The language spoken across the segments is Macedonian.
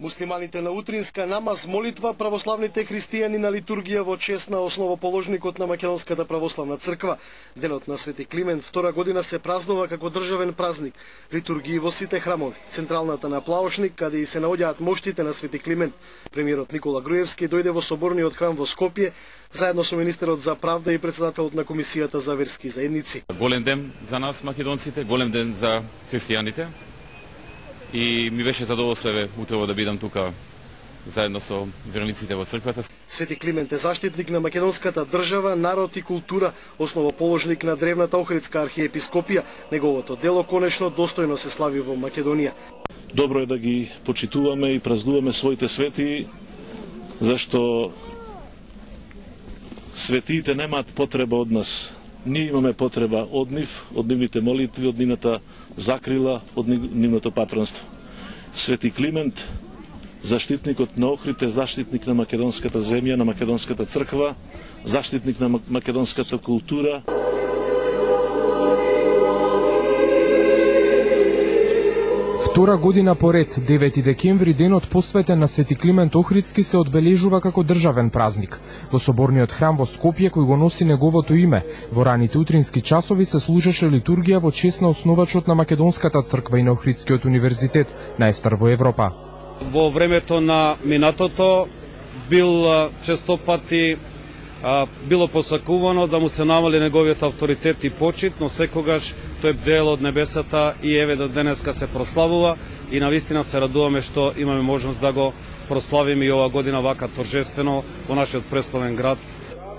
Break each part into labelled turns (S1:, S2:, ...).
S1: Муслиманите на утринска намаз молитва, православните христијани на литургија во чест на основоположникот на Македонската православна црква. Денот на Свети Климент втора година се празнува како државен празник. Литургии во сите храмови. Централната на Плаошник, каде и се наоѓаат моштите на Свети Климент. Премиерот Никола Груевски дојде во соборниот храм во Скопје, заедно со министерот за правда и претседателот на Комисијата за верски заедници.
S2: Голем ден за нас македонците, голем ден за христијаните. И ми беше задоволство утрово да бидам тука заедно со верниците во црквата.
S1: Свети Климент е заштитник на македонската држава, народ и култура, основоположник на древната Охридска архиепископија. Неговото дело конечно достојно се слави во Македонија.
S3: Добро е да ги почитуваме и празнуваме своите свети, зашто светиите немаат потреба од нас. Ние имаме потреба од нив, од нивните молитви, од нивната закрила, од нивното патронство. Свети Климент, заштитникот на Охрид, е заштитник на македонската земја, на македонската црква, заштитник на македонската култура.
S4: Втора година поред, 9 декември, денот посветен на Свети Климент Охридски, се одбележува како државен празник. Во соборниот храм во Скопје, кој го носи неговото име, во раните утрински часови се служеше литургија во чест на основачот на Македонската црква и на Охридскиот универзитет, најстар во Европа.
S5: Во времето на минатото бил честопати било посакувано да му се намали неговиот авторитет и почит, но секогаш тој бдел од небесата и еве до денеска се прославува и навистина се радуваме што имаме можност да го прославиме и ова година вака торжествено во нашиот преславен град.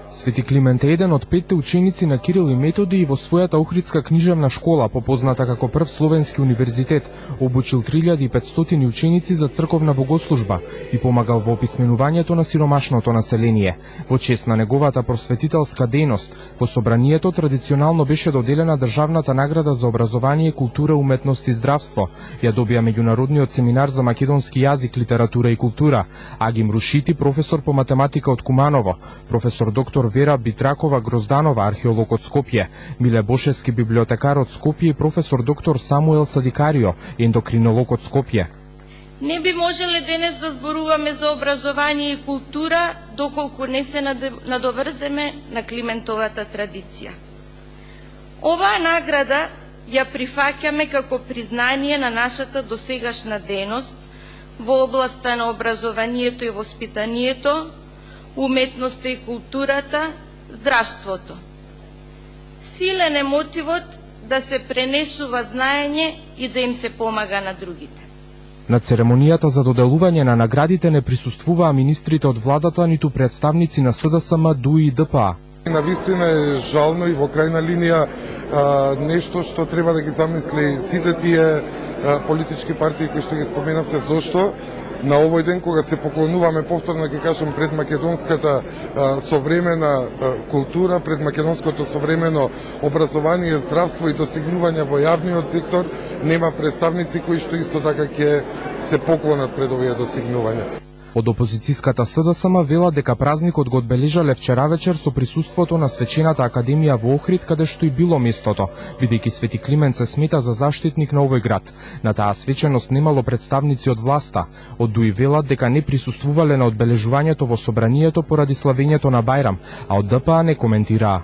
S4: Свети Климент е еден од 5 ученици на Кирил и Методи и во својата Охридска книжевна школа, попозната како прв словенски универзитет, обучил 3500 ученици за црковна богослужба и помагал во описменувањето на сиромашното население. Во чест на неговата просветителска дејност, во собранието традиционално беше доделена државната награда за образование, култура, уметност и здравство. Ја добија меѓународниот семинар за македонски јазик, литература и култура. Агим Рушити, професор по математика од Куманово, професор доктор Вера Битракова Грозданова, археолог од Скопје, Миле Бошевски, библиотекар од Скопје и професор доктор Самуел Садикарио, ендокринолог од Скопје.
S6: Не би можеле денес да зборуваме за образование и култура доколку не се надоврземе на Климентовата традиција. Оваа награда ја прифаќаме како признание на нашата досегашна дејност во областа на образованието и воспитанието, уметноста и културата, здравството. Силен е мотивот да се пренесува знаење и да им се помага на другите.
S4: На церемонијата за доделување на наградите не присуствуваа министрите од владата, ниту представници на СДСМ, ДУИ и ДПА.
S7: Навистина е жално и во крајна линија нешто што треба да ги замисли сите тие политички партии кои што ги споменавте, зошто на овој ден кога се поклонуваме повторно, ќе кажам, пред македонската современа култура, пред македонското современо образование, здравство и достигнувања во јавниот сектор, нема представници кои што исто така ќе се поклонат пред овие достигнувања.
S4: Од опозицијската СДСМ велат дека празникот го одбележале вчера вечер со присуството на Свечената академија во Охрид, каде што и било местото, бидејќи Свети Климент се смета за заштитник на овој град. На таа свеченост немало представници од власта. Од ДУИ велат дека не присуствувале на одбележувањето во собранието поради славењето на Бајрам, а од ДПА не коментираа.